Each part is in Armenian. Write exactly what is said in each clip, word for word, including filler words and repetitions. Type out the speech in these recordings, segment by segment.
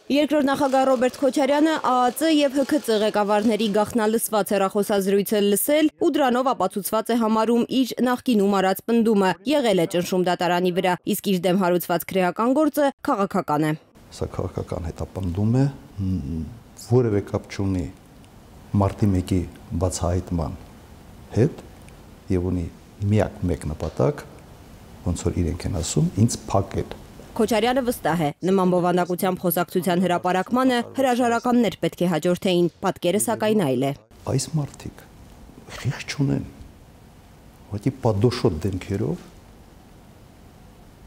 Երկրորդ նախագահ Ռոբերտ Քոչարյանը Ա Ա Ծ եւ Հ K Ծ ղեկավարների գաղտնալսված հեռախոսազրույցը լսել ու դրանով ապացուցված է համարում իր նախկինում արած պնդումը, եղել է ճնշում դատարանի վրա, իսկ իր դեմ հարուցված քրեական գործը քաղաքական է։ Սա քաղաքական հետապնդում է, որևէ կապ չունի մարտի մեկի բացահայտման հետ եւ ունի միակ մեկ նպատակ, ոնց որ իրենք են ասում, ինձ փակել։ Քոչարյանը վստահ է, նման բովանդակությամբ խոսակցության հրապարակմանը հրաժարականներ պետք է հաջորդեին, պատկերը սակայն այլ է։ Այս մարդիկ խիղճ չունեն, ուղղակի պատոշոտ դեմքերով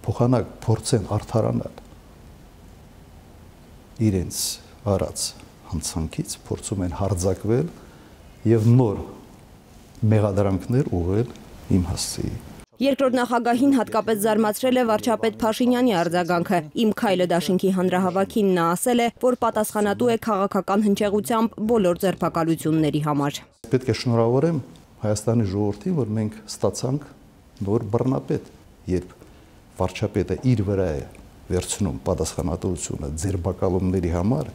փոխանակ փորձեն արդարանալ իրենց արած հանցանքից, փորձում են հարձակվել եւ նոր մեղադրանքներ ուղղել իմ հասցեի։ Երկրորդ նախագահին հատկապես զարմացրել է վարչապետ Փաշինյանի արձագանքը։ Իմ քայլը դաշինքի հանրահավաքին նա ասել է, որ պատասխանատու է քաղաքական հնչեղությամբ բոլոր ձերբակալությունների համար։ Պետք է շնորհավորեմ Հայաստանի ժողովրդին, որ մենք ստացանք նոր բռնապետ, երբ վարչապետը իր վրա է վերցնում պատասխանատվությունը ձերբակալումների համար,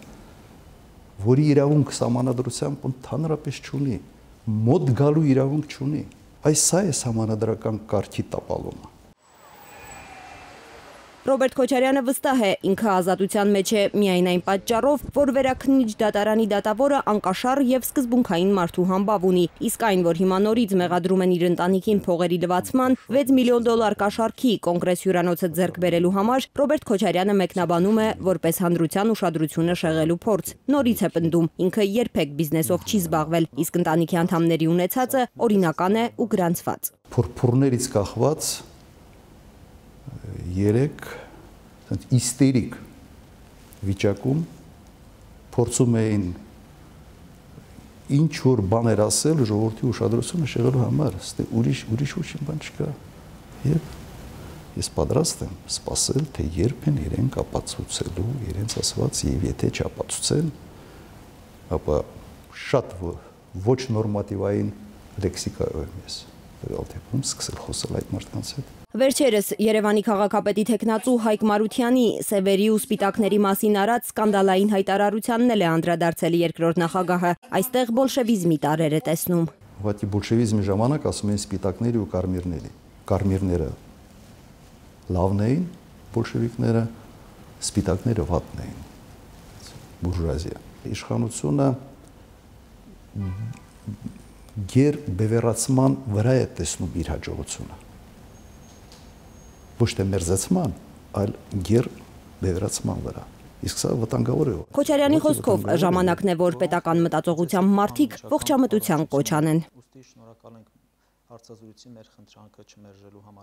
որի իրավունք սահմանադրությամբ ընդհանրապես չունի, մոտ գալու իրավունք չունի։ Այս սա է սահմանադրական կարգի տապալումը։ Ռոբերտ Քոչարյանը վստահ է, ինքը ազատության մեջ է միայն այն պատճառով, որ վերաքննիչ դատարանի դատավորը անկաշառ եւ սկզբունքային մարդու համբավ ունի, իսկ այն, որ հիմա նորից մեղադրում են իր ընտանիքին փողերի լվացման, վեց միլիոն դոլար կաշառքի կոնգրես հյուրանոցը ձեռք բերելու համար, Ռոբերտ Քոչարյանը մեկնաբանում է որպես հանրության ուշադրությունը շեղելու փորձ։ Նորից է պնդում, ինքը երբեք բիզնեսով չի զբաղվել, իսկ ընտանիքի անդամների ունեցածը օրինական է ու գրանցված։ Փորփուրներից կախված երեք իստերիկ վիճակում փորձում էին ինչ որ բաներ ասել ժողովրդի ուշադրությունը շեղելու համար, ստե ուրիշ ուրիշ ոչինչ բան չկա։ Եվ ես պատրաստ եմ սպասել, թե երբ են իրենք ապացուցելու իրենց ասված, եւ եթե չապացուցեն, ապա շատ ոչ նորմատիվային լեքսիկայով եմ ես տվյալ դեպքում սկսել խոսել այդ մարդկանց հետ։ Վերջերս Երևանի քաղաքապետի թեկնածու Հայկ Մարությանի սևերի ու սպիտակների մասին արած սկանդալային հայտարարությանն էլ է անդրադարձել երկրորդ նախագահը։ Այստեղ բոլշևիզմի տարրեր է տեսնում։ Ուղղակի բոլշևիզմի ժամանակ ասում են սպիտակների ու կարմիրների։ Կարմիրները լավն էին, բոլշևիկները, սպիտակները վատն էին։ Բուրժուազիա։ Իշխանությունը գեր բևեռացման վրա է տեսնում իր հաջողությունը։ Ոչ թե մերձեցման, այլ գեր բևեռացման վրա։ Իսկ սա վտանգավոր է։ Քոչարյանի խոսքով ժամանակն է, որ պետական մտածողությամբ մարդիկ ողջամտության կոչ անեն։ Ուստի շնորհակալ ենք հարցազրույցի մեր խնդրանքը չմերժելու համար։